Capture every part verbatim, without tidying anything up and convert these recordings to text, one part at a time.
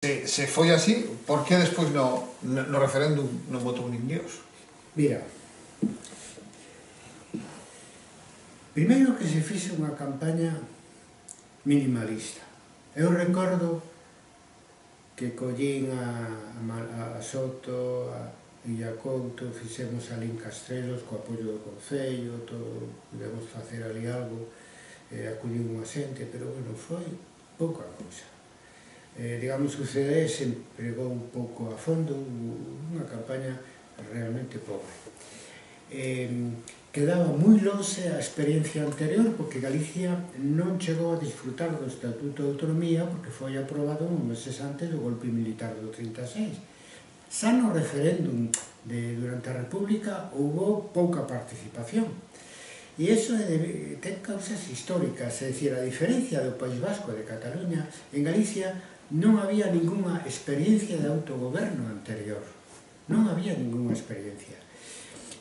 se, se foi así, por que despois no, no referéndum non votou nin Dios? Mira, primeiro que se fixe unha campaña minimalista. Eu recordo que collín a, a, a Soto, a Illa Couto, fixemos ali en Castrelos co apoio do Concello, todo, podemos facer ali algo, eh, acudiu unha xente, pero bueno, foi pouca cousa. Eh, digamos, o C D se empregou un pouco a fondo, unha campaña realmente pobre. Eh, quedaba moi lonxe a experiencia anterior, porque Galicia non chegou a disfrutar do Estatuto de Autonomía porque foi aprobado uns meses antes do golpe militar do trinta e seis. Xa no referéndum de, durante a República houve pouca participación. E iso é, ten causas históricas, é dicir, a diferencia do País Vasco e de Cataluña, en Galicia non había ninguna experiencia de autogoberno anterior. Non había ninguna experiencia.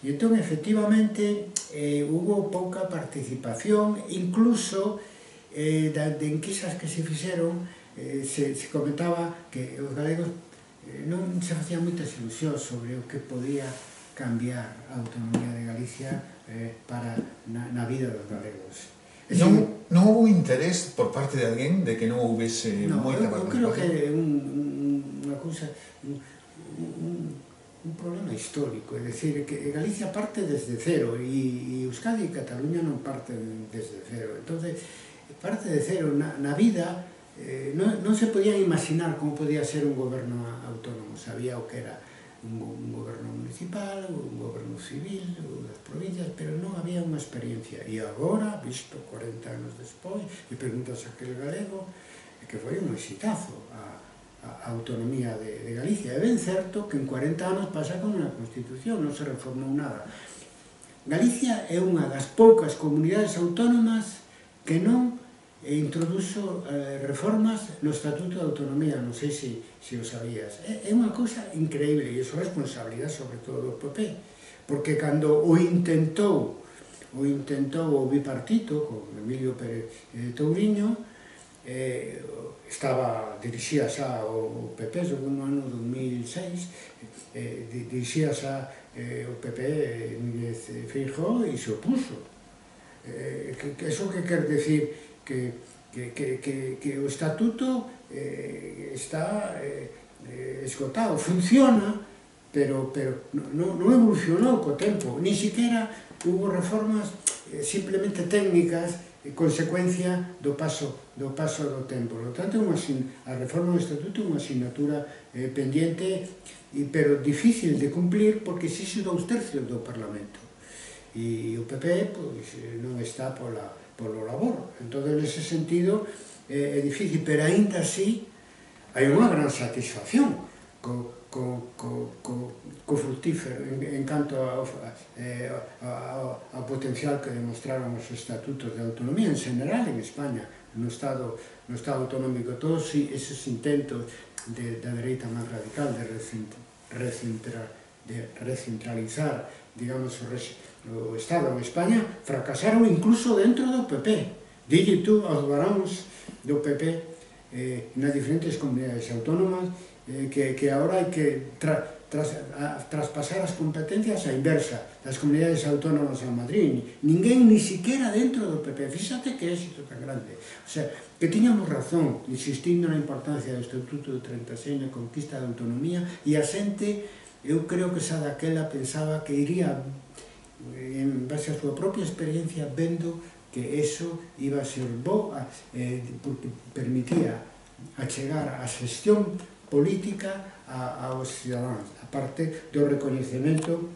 E entón, efectivamente, eh, hubo pouca participación, incluso eh, de enquisas que se fixeron, eh, se, se comentaba que os galegos eh, non se facían moitas ilusións sobre o que podía cambiar a autonomía de Galicia eh, para na, na vida dos galegos. Non, non houve interés por parte de alguén de que non houvese no, moita eu, participación? Eu creo que é un, un, unha cousa... Un, un, un problema histórico, é dicir, que Galicia parte desde cero e Euskadi e Cataluña non parten desde cero. Entonces, parte de cero na, na vida, eh, non, non se podían imaginar como podía ser un goberno autónomo. Sabía o que era un, un goberno municipal, un goberno civil, das provincias, pero non había unha experiencia. E agora, visto cuarenta anos despois, e preguntas a aquel galego, que foi un exitazo a a autonomía de, de Galicia. É ben certo que en cuarenta anos pasa con a Constitución, non se reformou nada. Galicia é unha das poucas comunidades autónomas que non introduzo eh, reformas no Estatuto de Autonomía, non sei se, se o sabías. É, é unha cousa increíble, e iso é responsabilidade sobre todo do P P, porque cando o intentou, o intentou o bipartito, con Emilio Pérez eh, Touriño, eh, estaba dirixía xa o P P no ano dos mil seis, eh, dirixía xa eh, o P P Núñez Feijóo e se opuso. Eh, que, que eso que quer decir que, que, que, que, que o estatuto eh, está eh, esgotado, funciona, pero, pero non, non evolucionou co tempo, ni siquiera hubo reformas eh, simplemente técnicas, consecuencia do paso do paso do tempo. Por lo tanto, a reforma do Estatuto é unha asignatura eh, pendiente, pero difícil de cumplir porque exixe dous tercios do Parlamento. E o P P pois, non está pola, polo labor. Entón, nese sentido, eh, é difícil, pero aínda así hai unha gran satisfacción co, co, co, co, co fructífero en, en canto ao, eh, ao, ao potencial que demostraron os estatutos de autonomía en general en España, no Estado, no Estado autonómico. Todos esos intentos de, da dereita máis radical de, recentra, de recentralizar, digamos, o, res, o Estado en España fracasaron incluso dentro do P P. Dille tú aos varóns do P P eh, nas diferentes comunidades autónomas eh, que, que agora hai que tra, tras, a, traspasar as competencias á inversa das comunidades autónomas a Madrid. Ninguén, ni siquiera dentro do P P. Fíxate que éxito tan grande. O sea, que tiñamos razón insistindo na importancia do Estatuto do trinta e seis na conquista da autonomía, e a xente, eu creo que xa daquela pensaba que iría, en base a súa propia experiencia, vendo que eso iba a ser bo, eh, porque permitía achegar a xestión política a, aos cidadáns, aparte do recoñecemento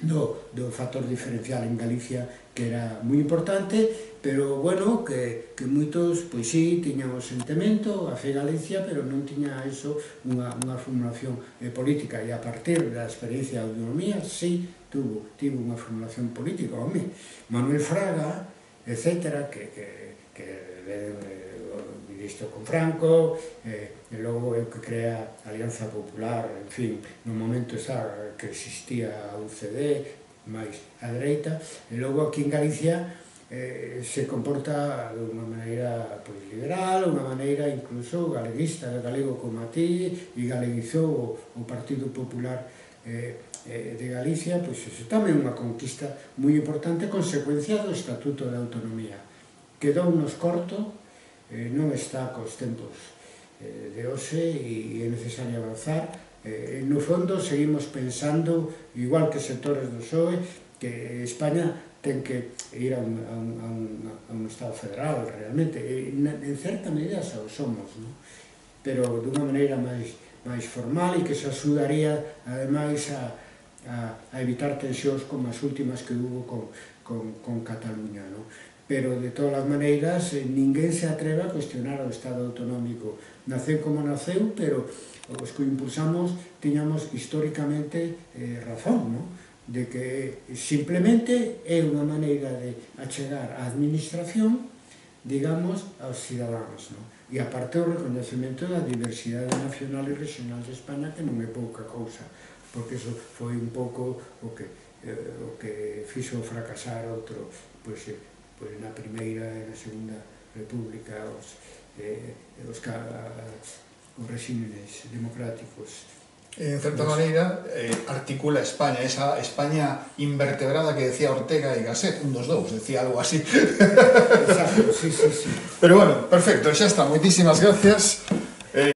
do, do factor diferencial en Galicia, que era moi importante, pero, bueno, que, que moitos, pois sí, tiñan o sentimento, a fe Galicia, pero non tiña eso unha, unha formulación eh, política, e a partir da experiencia de autonomía, sí, tuvo, tivo unha formulación política, home, Manuel Fraga, etcétera, que, que, que eh, ministro con Franco, eh, e logo é o que crea a Alianza Popular, en fin, no momento xa que existía a U C D, máis a dereita, e logo aquí en Galicia eh, se comporta de unha maneira pois, liberal, unha maneira incluso galeguista, galego como a ti, e galeguizou o Partido Popular eh, eh, de Galicia, pois iso tamén é unha conquista moi importante, consecuencia do Estatuto de Autonomía. Quedou nos corto, eh, non está cos tempos eh, de hoxe e é necesario avanzar. Eh, no fondo, seguimos pensando, igual que sectores do P S O E, que España ten que ir a un, a un, a un, a un Estado federal, realmente. E, en certa medida xa o somos, non? Pero dunha maneira máis, máis formal e que se axudaría, ademais, a, a, a evitar tensións como as últimas que hubo con, con, con Cataluña, non? Pero, de todas as maneiras, ninguén se atreve a cuestionar o Estado autonómico. Naceu como naceu, pero os que o impulsamos tiñamos históricamente eh, razón, non? De que simplemente é unha maneira de achegar a administración, digamos, aos cidadáns, non? E aparte o reconhecimento da diversidade nacional e regional de España, que non é pouca cousa, porque iso foi un pouco o que, eh, o que fixo fracasar outro, pois, eh, pois na primeira e na segunda república, os, eh, os, os regímenes democráticos. En certa maneira, eh, articula España, esa España invertebrada que decía Ortega y Gasset, un dos dous, decía algo así. Exacto, sí, sí, sí. Pero bueno, perfecto, xa está, moitísimas gracias.